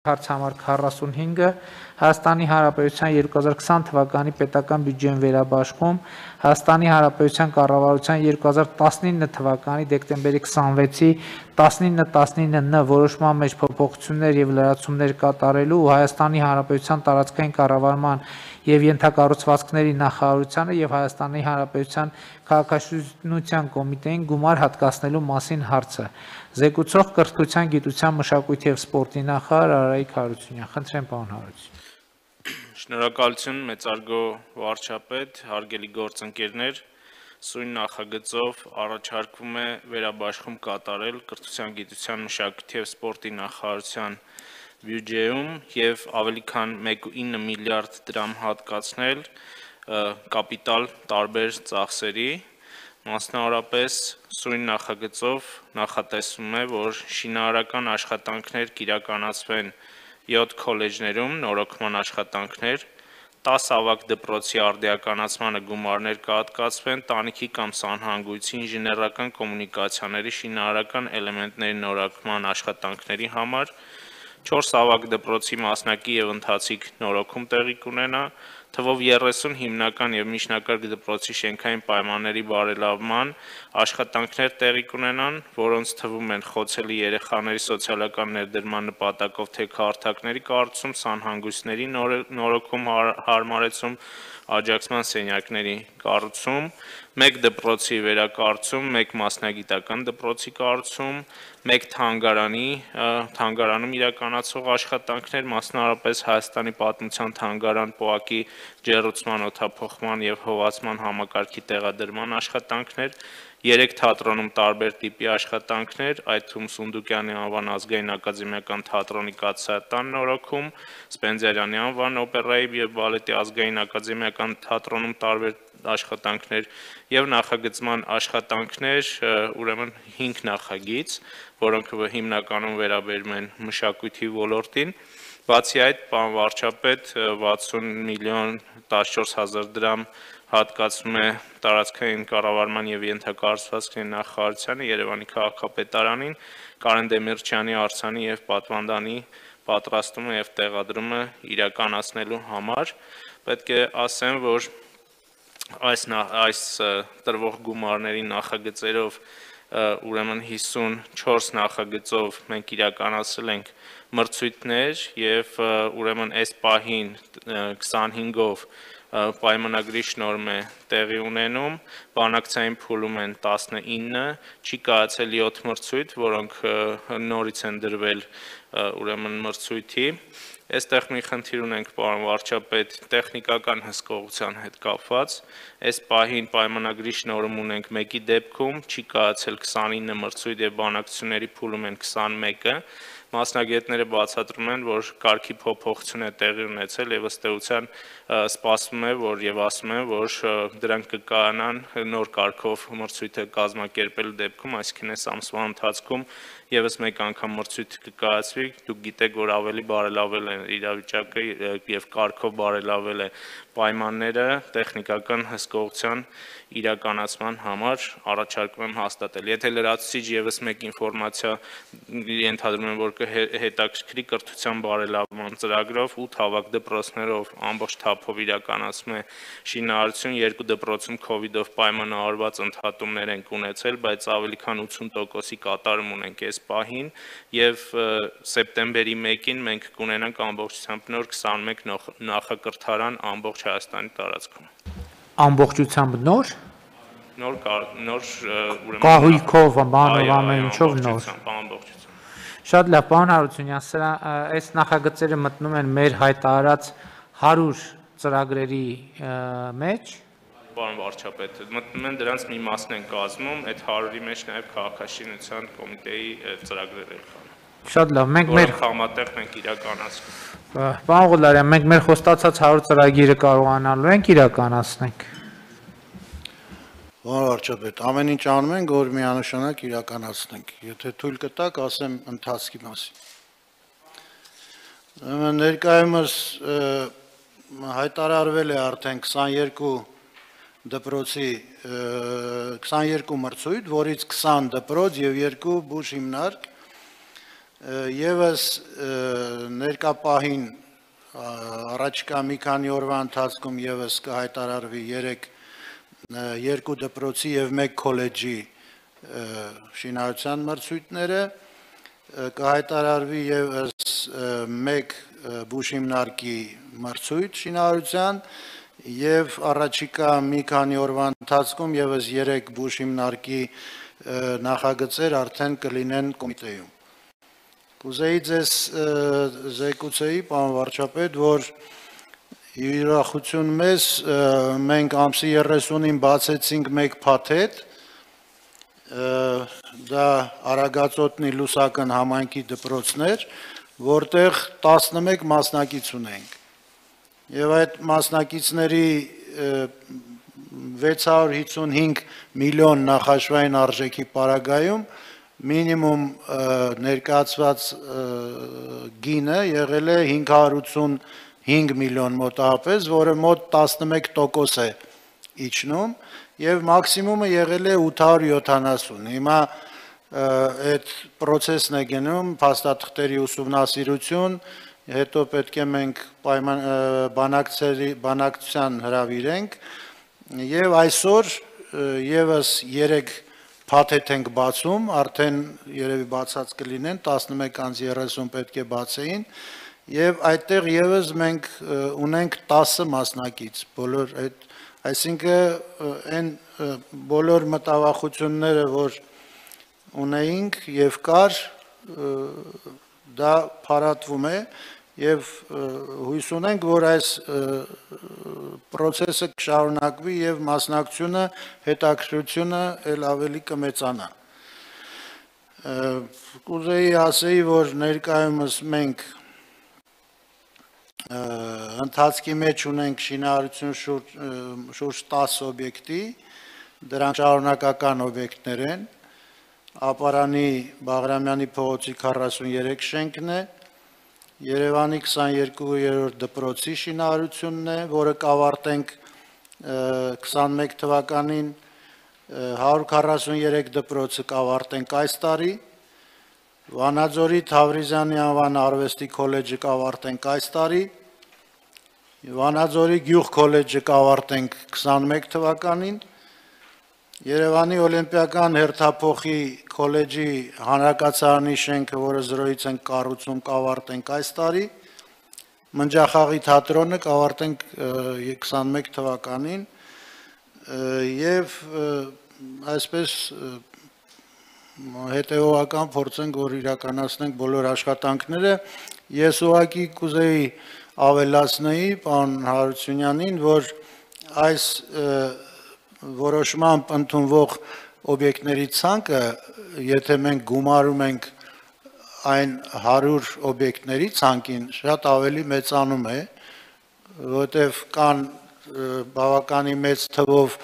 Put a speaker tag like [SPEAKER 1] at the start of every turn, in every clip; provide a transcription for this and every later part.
[SPEAKER 1] Հարց համար 45-ը Հայաստանի Հանրապետության 2020 թվականի պետական բյուջեն վերաբաշխում Հայաստանի Հանրապետության կառավարության 2019 թվականի դեկտեմբերի 26-ի 1919N որոշման մեջ փոփոխություններ եւ լրացումներ կատարելու ու Հայաստանի Հանրապետության տարածքային կառավարման եւ ենթակառուցվածքների նախարարությանը եւ Հայաստանի Հանրապետության քաղաքաշինության կոմիտեին գումար հատկացնելու մասին հարցը Զեկուցող կրթության, գիտության, մշակույթի եւ սպորտի նախարար Արայիկ Հարությունյան, խնդրեմ պարոն Հարությունյան։
[SPEAKER 2] Շնորհակալություն մեծարգո վարչապետ, հարգելի գործընկերներ, սույն նախագծով առաջարկվում է վերաբաշխում կատարել կրթության, գիտության, մշակույթի եւ սպորտի նախարարության բյուջեում եւ ավելի քան 1.9 միլիարդ դրամ հատկացնել կապիտալ տարբեր ծախսերի Մասնավորապես սույն նախագծով նախատեսվում է, որ շինարարական աշխատանքներ կիրականացվեն 7 քոլեջներում, նորոգման աշխատանքներ, 10 ավագ դպրոցի արդիականացմանը գումարներ կհատկացվեն, տանիքի կամ սանհանգույցի ինժեներական կոմունիկացիաների շինարարական էլեմենտների նորոգման աշխատանքների համար, 4 ավագ դպրոցի մասնակի եւ ընթացիկ նորոգում տեղի կունենա, թվով 30 հիմնական եւ միջնակարգ դպրոցի շենքային պայմանների բարելավման աշխատանքներ տեղի կունենան, որոնց թվում են խոցելի երեխաների սոցիալական ներդրման նպատակով թե քարտակների կառուցում, սանհանգույցների նորոգում, հարմարեցում, աջակցման սենյակների կառուցում, 1 դպրոցի վերակառուցում, 1 մասնագիտական դպրոցի կառուցում, 1 թանգարանում իրականացող աշխատանքներ, մասնավորապես Հայաստանի պատմության թանգարան ՊՕԱԿ-ի ջեռուցման, օդափոխման եւ հովացման համակարգի տեղադրման աշխատանքներ, 3 թատրոնում տարբեր տիպի աշխատանքներ, այդ թվում Սունդուկյանի անվան ազգային ակադեմիական թատրոնի կաթսայատան նորոգում, Սպենդիարյանի անվան օպերայի եւ բալետի ազգային ակադեմիական թատրոնում տարբեր աշխատանքներ եւ նախագծման աշխատանքներ, ուրեմն 5 նախագիծ, որոնք հիմնականում վերաբերում են մշակույթի ոլորտին, բացի այդ, պարոն վարչապետ 60 միլիոն 14 հազար դրամ հատկացվում է տարածքային կառավարման եւ ենթակառուցվածքների նախարարությանը Երևանի քաղաքապետարանին Կարեն Դեմիրճյանի արձանի եւ պատվանդանի պատրաստումը եւ տեղադրումը իրականացնելու համար պետք է ասեմ, որ այս տրվող գումարների նախագծերով ուրեմն 54 նախագծով մենք իրականացրել ենք մրցույթներ եւ ուրեմն այս պահին 25-ով պայմանագրի շնորհում է տեղի ունենում, բանակցային փուլում են 19, չի կայացել 7 մրցույթ, որոնք նորից են դրվել ուրեմն մրցույթի Այստեղ մի խնդիր ունենք, պարոն վարչապետ, տեխնիկական հսկողության հետ կապված, այս պահին պայմանագրի շնորհում ունենք մեկի դեպքում, չի կայացել 29 մրցույթ եւ բանակցությունների փուլում են 21-ը, մասնագետները բացատրում են, որ կարգի փոփոխություն է տեղի ունեցել եւ ըստ էության սպասվում է, որ եւ ասում են, որ դրանք կկայանան նոր կարգով մրցույթը կազմակերպելու դեպքում, այսինքն այս ամսվա ընթացքում եւս մեկ անգամ մրցույթ կկայացվի, դուք գիտեք, որ ավելի բարելավել է իրավիճակը եւ կարգով բարելավել է պայմանները տեխնիկական հսկողության իրականացման համար առաջարկում եմ հաստատել։ Եթե լրացուցիչ եւս մեկ ինֆորմացիա ենթադրում եմ, որ կհետաքրքրի կրթության բարելավման ծրագրով 8 հավաք դպրոցներով ամբողջ թափով իրականացում է շինարարություն, 2 դպրոցում COVID-ով պայմանավորված ընդհատումներ են ունեցել, բայց ավելի քան 80%-ի կատարում ունենք այս պահին եւ սեպտեմբերի 1-ին մենք կունենանք ամբողջությամբ նոր 21 նախակրթարան ամբողջ Հայաստանի տարածքում։
[SPEAKER 1] Ամբողջությամբ նոր
[SPEAKER 2] ուրեմն
[SPEAKER 1] կահույքով, բանով, ամեն ինչով նոր։
[SPEAKER 2] Ամբողջությամբ։
[SPEAKER 1] Շատ լավ, պարոն Հարությունյան, սրա այս նախագծերը մտնում են մեր հայտարարած 100 ծրագրերի մեջ։
[SPEAKER 2] Պարոն վարչապետ, մտնում են դրանց մի մասն են կազմում, այդ 100-ի մեջ նաև քաղաքաշինության կոմիտեի ծրագրեր են կան։
[SPEAKER 1] Շատ լավ, մենք մեր
[SPEAKER 2] համատեղ մենք իրականացնում։
[SPEAKER 1] Պարոն Ղուլարյան, մենք մեր խոստացած 100 ծրագիրը կարողանալու ենք իրականացնենք։
[SPEAKER 3] Պարոն վարչապետ, ամեն ինչ անում ենք, որ միանշանակ իրականացնենք։ Եթե թույլ կտաք, ասեմ ընթացքի մասին։ Ներկայումս հայտարարվել է արդեն 22 դպրոցի 22 մրցույթ, որից 20 դպրոց եւ 2 բուժ հիմնարկ Եվս ներկապահին առաջկա մի քանի օրվա ընթացքում եւս կհայտարարվի 2 դպրոցի եւ 1 քոլեջի շինարարության մրցույթները, կհայտարարվի եւս 1 բուժհիմնարկի մրցույթ շինարարության եւ առաջիկա մի քանի օրվա ընթացքում եւս 3 բուժհիմնարկի նախագծեր արդեն կլինեն կոմիտեում։ Կուզեի ձեզ զեկուցեի, պարոն վարչապետ, որ յուրախություն մեզ մենք ամսի 30-ին բացեցինք 1 փաթեթ, դա Արագածոտնի Լուսական համայնքի դպրոցներ, որտեղ 11 մասնակից ունենք։ Եվ այդ մասնակիցների 655 միլիոն նախաշվային արժեքի պարագայում մինիմում ներկայացված գինը եղել է 585 միլիոն մոտավորապես, որը մոտ 11% է իջնում, եւ մաքսիմումը եղել է 870։ Հիմա այդ process-ն է գնում, փաստաթղթերի ուսումնասիրություն, հետո պետք է մենք բանակցության հրավիրենք, եւ այսօր եւս 3 փաթեթ ենք բացում, արդեն երևի բացած կլինեն, 11:30 պետք է բացեին, եւ այդտեղ եւս մենք ունենք 10 մասնակից, բոլոր այդ, այսինքն այն բոլոր մտավախությունները, որ ունեինք եւ կար, դա փարատվում է եւ հույս ունենք, որ այս process-ը կշարունակվի եւ մասնակցությունը, հետաքրքրությունը ել ավելի կմեծանա։ Կուզեի ասեի, որ ներկայումս մենք ընթացքի մեջ ունենք շինարարություն շուրջ 10 օբյեկտի, դրանք շարունակական օբյեկտներ են, Ապարանի Բաղրամյանի փողոցի 43 շենքն է, Երևանի 22-րդ դպրոցի շինարարությունն է, որը կավարտենք 21 թվականին, 143 դպրոցը կավարտենք այս տարի, Վանաձորի Թավրիզյանի անվան արվեստի քոլեջը կավարտենք այս տարի, Վանաձորի գյուղ քոլեջը կավարտենք 21 թվականին, Երևանի Օլիմպիական հերթափոխի քոլեջի հանրակացարանի շենքը, որը զրոյից ենք կառուցում, կավարտենք այս տարի, Մնջախաղի թատրոնը կավարտենք 21 թվականին եւ այսպես հետեւողական փորձենք, որ իրականացնենք բոլոր աշխատանքները։ Ես ուղղակի կուզեի ավելացնեի պարոն Հարությունյանին, որ այս որոշմամբ ընդունվող օբյեկտների ցանկը, եթե մենք գումարում ենք այն 100 օբյեկտների ցանկին, շատ ավելի մեծանում է, որտեղ կան բավականին մեծ թվով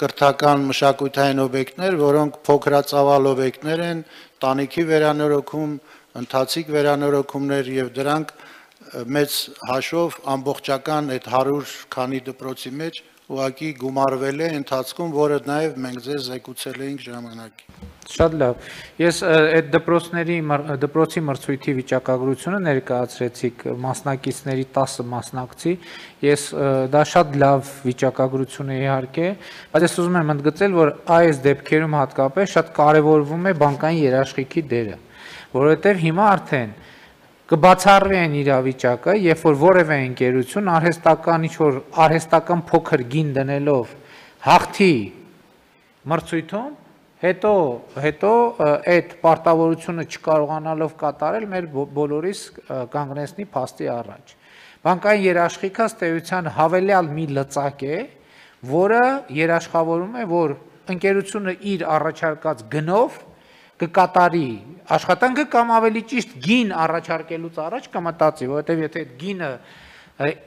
[SPEAKER 3] կրթական մշակութային օբյեկտներ, որոնք փոքրածավալ օբյեկտներ են, տանիքի վերանորոգում, ընթացիկ վերանորոգումներ եւ դրանք մեծ հաշվով ամբողջական այդ 100 քանի դպրոցի մեջ ուղղակի գումարվել է ընթացքում, որը նաև մենք ձեզ զեկուցել էինք ժամանակին։
[SPEAKER 1] Շատ լավ։ Ես այդ դպրոցի մրցույթի վիճակագրությունը ներկայացրեցիք մասնակիցների 10 մասնակցի։ Ես դա շատ լավ վիճակագրություն է իհարկե, բայց ես ուզում եմ ընդգծել, որ այս դեպքերում հատկապես շատ կարևորվում է բանկային երաշխիքի դերը, որովհետև հիմա արդեն կբացառվի այն իրավիճակը, երբ որ որևէ ընկերություն արհեստական ինչ-որ արհեստական փոքր գին դնելով հաղթի մրցույթում, հետո այդ պարտավորությունը չկարողանալով կատարել մեր բոլորիս կանգնեցնի փաստի առաջ։ Բանկային երաշխիքը ըստ էության հավելյալ մի լծակ է, որը երաշխավորում է, որ ընկերությունը իր առաջարկած գնով կկատարի աշխատանքը կամ ավելի ճիշտ գին առաջարկելուց առաջ կմտածի, որովհետև եթե այդ գինը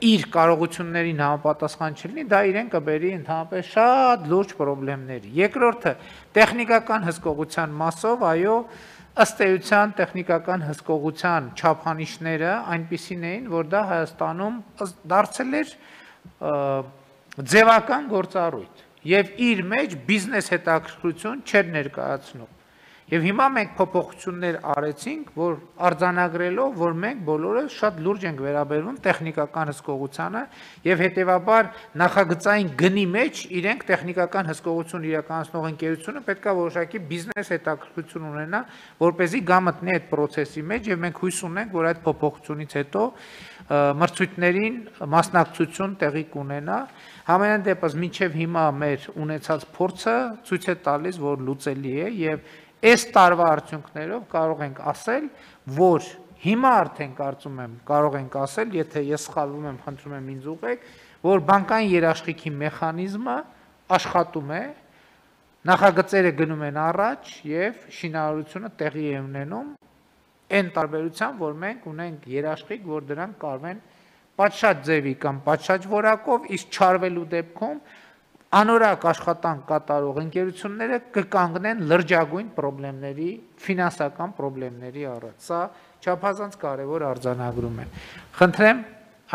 [SPEAKER 1] իր կարողություններին համապատասխան չլինի, դա իրեն կբերի ընդհանրապես շատ լուրջ խնդիրների։ Երկրորդը, տեխնիկական հսկողության մասով, այո, ըստ էության տեխնիկական հսկողության չափանիշները այնպիսին էին, որ դա Հայաստանում դարձել էր ձևական գործառույթ եւ իր մեջ բիզնես հետաքրքրություն չէր ներկայացնում։ Եվ հիմա մենք փոփոխություններ արեցինք, որ արձանագրելով, որ մենք բոլորը շատ լուրջ ենք վերաբերվում տեխնիկական հսկողությանը եւ հետեւաբար նախագծային գնի մեջ իրենք տեխնիկական հսկողություն իրականացնող ընկերությունը պետքա որոշակի բիզնես հետաքրքրություն ունենա, որ เป զի գա մտնի այդ process-ի մեջ եւ մենք հույս ունենք, որ այդ փոփոխությունից հետո մրցույթներին մասնակցություն տեղի կունենա։ Համենայն դեպս մինչև հիմա մեր ունեցած փորձը ցույց է տալիս, որ լուծելի է եւ այս տարվա արդյունքներով կարող ենք ասել, որ հիմա արդեն կարծում եմ կարող ենք ասել, եթե ես սխալվում եմ, խնդրում եմ ինձ ուղղեք, որ բանկային երաշխիքի մեխանիզմը աշխատում է, նախագծերը գնում են առաջ եւ շինարարությունը տեղի է ունենում այն տարբերությամբ, որ մենք ունենք երաշխիք, որ դրանք կարող են պատշաճ ձևի կամ պատշաճ որակով, իսկ չարվելու դեպքում անորակ աշխատանք կատարող ընկերությունները կկանգնեն լրջագույն խնդիրների, ֆինանսական խնդիրների առաջ։ Սա չափազանց կարևոր արձանագրում է։ Խնդրեմ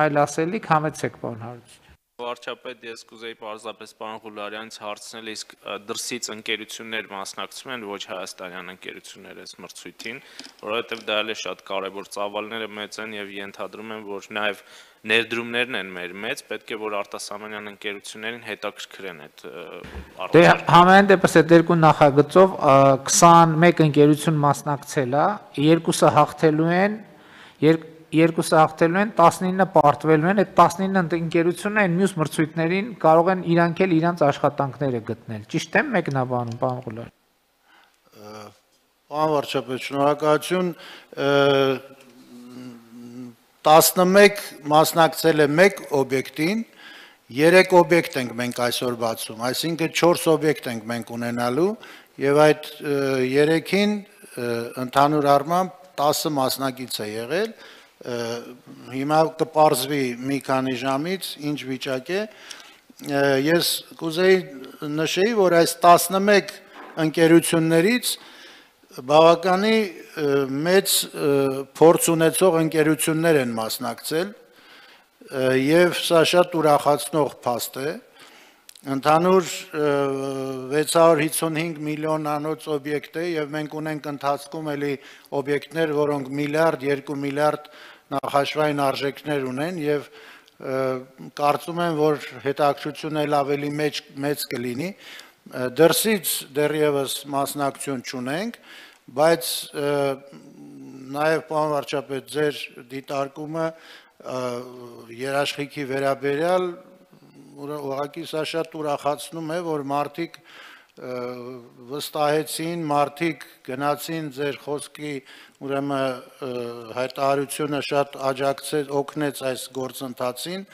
[SPEAKER 1] այլ ասելիք համեցեք, պարոն Հարությունյան։
[SPEAKER 2] Վարչապետ, ես կուզեի պարզապես պարոն Ղուլարյանից հարցնել, իսկ դրսից ընկերություններ մասնակցում են, ոչ հայաստանյան ընկերություններ այս մրցույթին, որովհետև դա էլ է շատ կարևոր, ծավալները մեծ են եւ ենթադրում եմ, որ նաեւ ներդրումներն են մեր մեծ, պետք է որ արտասահմանյան ընկերություններին հետաքրքրեն այդ
[SPEAKER 1] Դե համենայն դեպս այդ երկու նախագծով 21 ընկերություն մասնակցել է, երկուսը հաղթելու են, 19 պարտվելու են, այդ 19 ընկերությունները այն մյուս մրցույթներին կարող են իրանք էլ իրանց աշխատանքները գտնել։ Ճիշտ եմ մեկնաբանում, պարոն Ղուլարյան։
[SPEAKER 3] Պարոն վարչապետ, շնորհակալություն։ 11 մասնակցել է 1 օբյեկտին, 3 օբյեկտ ենք մենք այսօր բացում, այսինքն 4 օբյեկտ ենք մենք ունենալու եւ այդ 3-ին ընդհանուր առմամբ 10 մասնակից է եղել։ Հիմա կպարզվի մի քանի ժամից ինչ վիճակ է։ Ես կուզեի նշեի, որ այս 11 ընկերություններից բավականի մեծ փորձ ունեցող ընկերություններ են մասնակցել եւ սա շատ ուրախացնող փաստ է։ Ընդհանուր 655 միլիոնանոց օբյեկտ է եւ մենք ունենք ընթացքում էլի օբյեկտներ, որոնք միլիարդ, 2 միլիարդ նախաշվային արժեքներ ունեն եւ կարծում եմ, որ հետաքրքրությունը էլ ավելի մեծ կլինի։ Դրսից դեռևս մասնակցություն չունենք, բայց նաեւ պարոն վարչապետ ձեր դիտարկումը երաշխիքի վերաբերյալ ուղղակի սա շատ ուրախացնում է, որ մարդիկ վստահեցին, մարդիկ գնացին ձեր խոսքի, ուրեմն հայտարարությունը շատ աջակցեց, օգնեց այս գործընթացին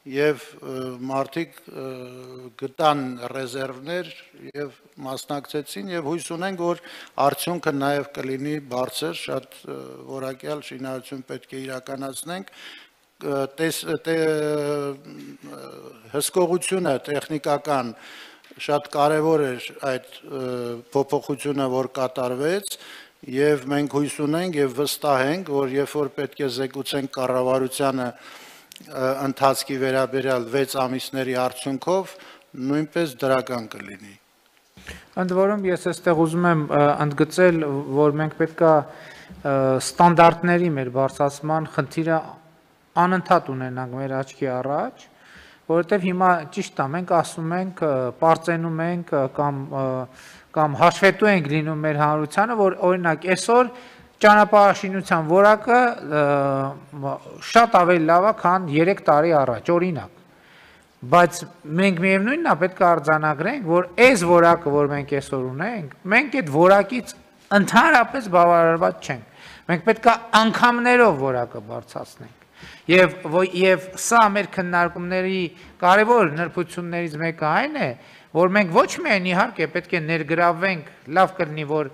[SPEAKER 3] եւ մարդիկ գտան ռեզերվներ եւ մասնակցեցին եւ հույս ունենք, որ արդյունքը նաեւ կլինի բարձր, շատ որակյալ շինարարություն պետք է իրականացնենք։ Հսկողությունը տեխնիկական շատ կարևոր էր այդ փոփոխությունը, որ կատարվեց եւ մենք հույս ունենք եւ վստահ ենք, որ երբ որ պետք է զեկուցենք կառավարությանը ընթացքի վերաբերյալ 6 ամիսների արդյունքով նույնպես դրական կլինի։
[SPEAKER 1] Ընդ որում ես այստեղ ուզում եմ ընդգծել, որ մենք պետքա ստանդարտների մեր բարձրացման խնդիրը անընդհատ ունենանք մեր աչքի առաջ, որովհետև հիմա ճիշտ է, մենք ասում ենք, պարծենում ենք կամ հաշվետու ենք լինում մեր հանրությանը, որ օրինակ այսօր ճանապարհաշինության որակը շատ ավելի լավ է, քան 3 տարի առաջ, օրինակ։ Բայց մենք միևնույնն է պետք է արձանագրենք, որ այս որակը, որ մենք այսօր ունենք, մենք այդ որակից ընդհանրապես բավարարված չենք։ Մենք պետք է անգամներով որակը բարձրացնենք։ Եվ սա մեր քննարկումների կարևոր նրբություններից մեկը այն է, որ մենք ոչ միայն իհարկե պետք է ներգրավվենք, լավ կլինի, որ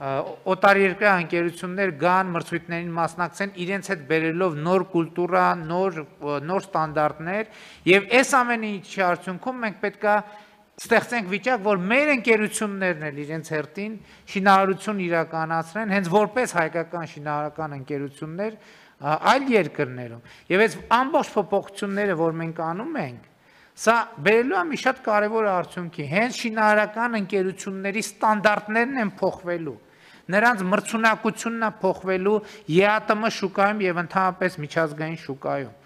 [SPEAKER 1] օտարերկրյա ընկերություններ գան մրցույթներին մասնակցեն իրենց հետ բերելով նոր կուլտուրա, նոր ստանդարտներ եւ այս ամենի արդյունքում մենք պետք է ստեղծենք վիճակ, որ մեր ընկերություններն էլ իրենց հերթին շինարարություն իրականացնեն, հենց որպես հայկական շինարարական ընկերություններ այլ երկրներում։ Եվ այս ամբողջ փոփոխությունները, որ մենք անում ենք, սա բերելու է մի շատ կարևոր արդյունքի, հենց շինարարական ընկերությունների ստանդարտներն են փոխվելու։ Նրանց մրցունակությունն է փոխվելու ԵԱՏՄ շուկայում եւ ընդհանրապես միջազգային շուկայում։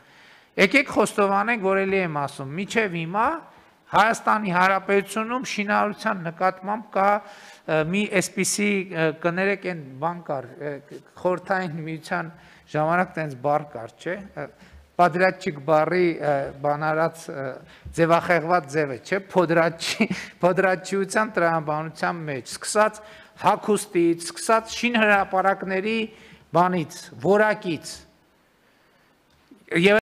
[SPEAKER 1] Եկեք խոստովանենք, որ էլի եմ ասում, միջև հիմա Հայաստանի Հանրապետությունում շինարարության նկատմամբ կա մի այսպիսի կներեք այն բան կար, խորհրդային միության ժամանակ տենց բառ կար, չէ՞, Պադրատչիկ բառի բանարած ձևախեղված ձևը, չէ՞, փոդրատչիության տրամաբանության մեջ, սկսած հագուստից, սկսած շինհրապարակների բանից, որակից եւ